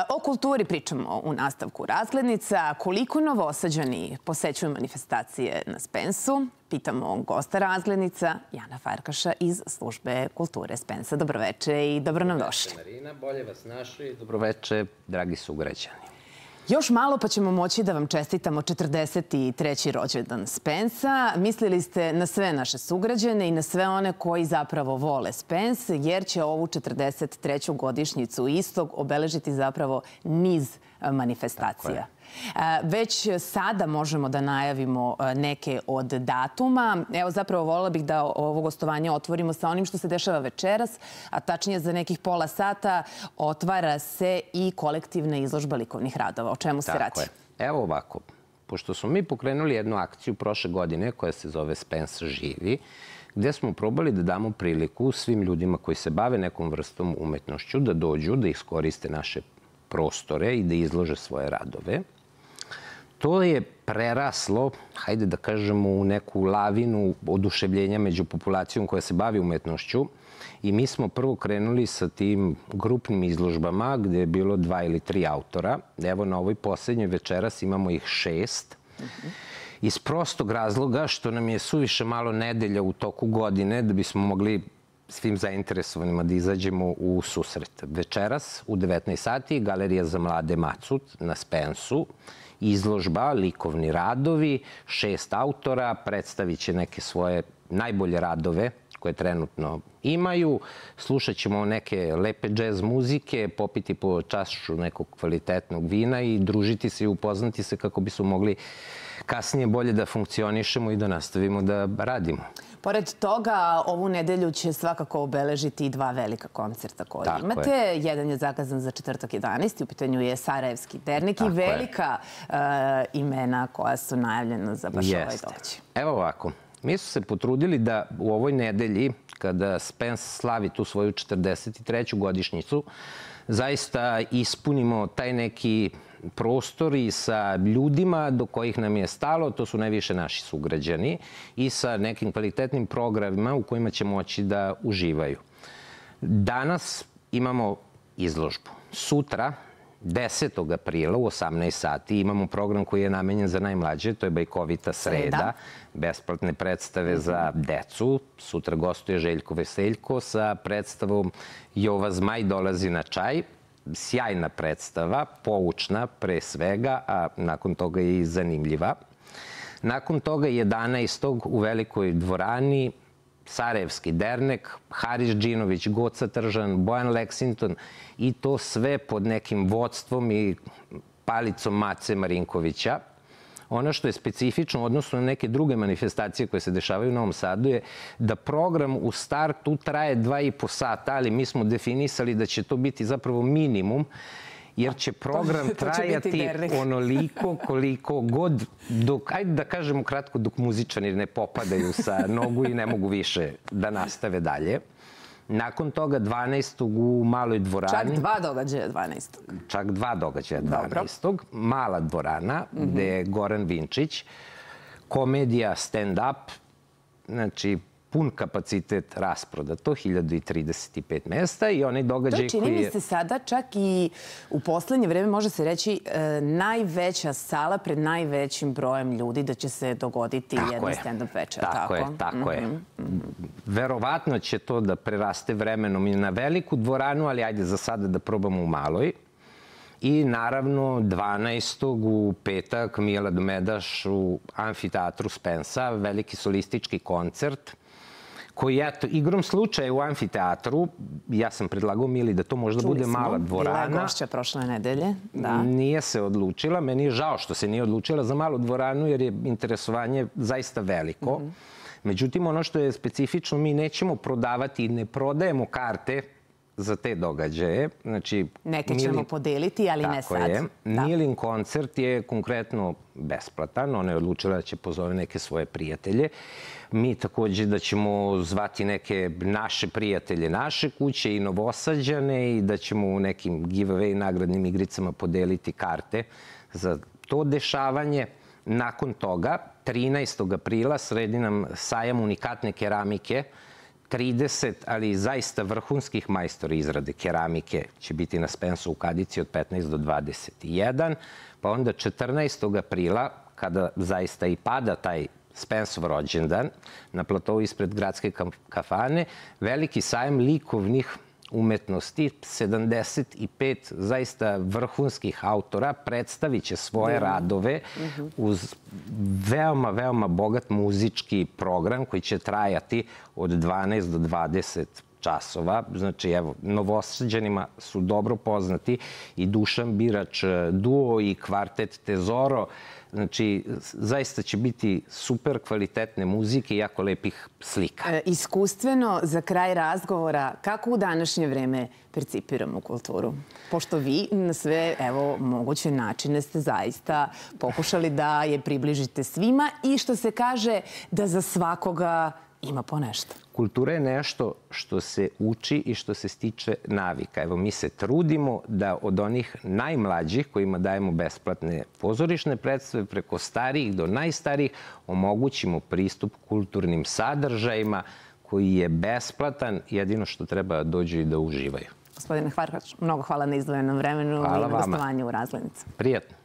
O kulturi pričamo u nastavku Razglednica. Koliko Novosađani posećuju manifestacije na Spensu? Pitamo gosta Razglednica, Jana Farkaša iz službe kulture Spensa. Dobroveče i dobro nam došli. Marina, bolje vas našli. Dobroveče, dragi sugrađani. Još malo pa ćemo moći da vam čestitamo 43. rođendan Spensa. Mislili ste na sve naše sugrađane i na sve one koji zapravo vole Spens, jer će ovu 43. godišnjicu istog obeležiti zapravo niz manifestacija. Već sada možemo da najavimo neke od datuma. Evo, zapravo voljela bih da ovo gostovanje otvorimo sa onim što se dešava večeras, a tačnije za nekih pola sata otvara se i kolektivna izložba likovnih radova. O čemu se radi? Evo ovako, pošto smo mi pokrenuli jednu akciju prošle godine koja se zove Spens živi, gde smo probali da damo priliku svim ljudima koji se bave nekom vrstom umetnošću da dođu, da iskoriste naše prostore i da izlože svoje radove. To je preraslo, hajde da kažemo, u neku lavinu oduševljenja među populacijom koja se bavi umetnošću. I mi smo prvo krenuli sa tim grupnim izložbama gde je bilo 2 ili 3 autora. Evo, na ovoj posljednjoj večeras imamo ih 6. Iz prostog razloga što nam je suviše malo nedelja u toku godine da bismo mogli svim zainteresovanima da izađemo u susret. Večeras u 19 sati Galerija za mlade Macut na Spensu, izložba, likovni radovi, 6 autora, predstavit će neke svoje najbolje radove koje trenutno imaju. Slušat ćemo neke lepe džez muzike, popiti po čašu nekog kvalitetnog vina i družiti se i upoznati se kako bismo mogli kasnije bolje da funkcionišemo i da nastavimo da radimo. Pored toga, ovu nedelju će svakako obeležiti i 2 velika koncerta koje imate. Jedan je zakazan za četvrtak 11. U pitanju je Sarajevski dernek i velika imena koja su najavljena za baš ovaj događaj. Evo ovako, mi smo se potrudili da u ovoj nedelji, kada Spens slavi tu svoju 43. godišnjicu, zaista ispunimo taj neki prostor i sa ljudima do kojih nam je stalo, to su najviše naši sugrađani, i sa nekim kvalitetnim programima u kojima će moći da uživaju. Danas imamo izložbu. Sutra, 10. aprila u 18 sati, imamo program koji je namenjen za najmlađe, to je Bajkovita sreda, besplatne predstave za decu. Sutra gostuje Željko Veseljko sa predstavom Jova Zmaj dolazi na čaj. Sjajna predstava, poučna pre svega, a nakon toga i zanimljiva. Nakon toga 11. u Velikoj dvorani Sarajevski dernek, Haris Džinović, Goca Tržan, Bojan Lexington i to sve pod nekim vodstvom i palicom Mace Marinkovića. Ono što je specifično, odnosno na neke druge manifestacije koje se dešavaju u Novom Sadu, je da program u startu traje 2,5 sata, ali mi smo definisali da će to biti zapravo minimum, jer će program trajati onoliko koliko god, ajde da kažemo kratko, dok muzičani ne popadaju sa nogu i ne mogu više da nastave dalje. Nakon toga 12. u Maloj dvorani. Čak 2 događaja 12. Čak 2 događaja 12. Mala dvorana, gde je Goran Vinčić. Komedija stand-up, znači pun kapacitet rasprodato, 1035 mesta i onaj događaj koji je... To čini mi se sada čak i u poslednje vreme, može se reći, najveća sala pred najvećim brojem ljudi da će se dogoditi jedna stand-up večer. Tako je. Verovatno će to da preraste vremenom i na veliku dvoranu, ali ajde za sada da probamo u maloj. I naravno 12. u petak Mijela Domedaš u Amfiteatru Spensa, veliki solistički koncert koji, eto, igrom slučaja u Amfiteatru, ja sam predlagao Mili da to možda bude mala dvorana. Bila je gošća prošle nedelje. Nije se odlučila. Meni je žao što se nije odlučila za malu dvoranu jer je interesovanje zaista veliko. Međutim, ono što je specifično, mi nećemo prodavati i ne prodajemo karte za te događaje. Neke ćemo podeliti, ali ne sad. Tako je. Milin koncert je konkretno besplatan. Ona je odlučila da će pozove neke svoje prijatelje. Mi takođe da ćemo zvati neke naše prijatelje naše kuće i Novosađane i da ćemo u nekim giveaway nagradnim igricama podeliti karte za to dešavanje. Nakon toga, 13. aprila, sredi nam sajam unikatne keramike 30, ali zaista vrhunskih majstora izrade keramike će biti na Spensu u Kadici od 15 do 21. Pa onda 14. aprila, kada zaista i pada taj Spensov rođendan, na platovu ispred gradske kafane, veliki sajam likovnih umetnosti, 75 zaista vrhunskih autora predstavit će svoje radove uz veoma, veoma bogat muzički program koji će trajati od 12 do 20 časova. Znači, evo, Novosađanima su dobro poznati i Dušan Birač duo i kvartet Tezoro. Znači, zaista će biti super kvalitetne muzike i jako lepih slika. Iskustveno, za kraj razgovora, kako u današnje vreme percipiramo kulturu? Pošto vi na sve, evo, moguće načine ste zaista pokušali da je približite svima i što se kaže da za svakoga ima po nešto. Kultura je nešto što se uči i što se stiče navika. Evo, mi se trudimo da od onih najmlađih kojima dajemo besplatne pozorišne predstave preko starijih do najstarijih omogućimo pristup kulturnim sadržajima koji je besplatan, jedino što treba dođu i da uživaju. Gospodine Hvarkač, mnogo hvala na izdvojenom vremenu i na gostovanju u Razglednici. Prijatno.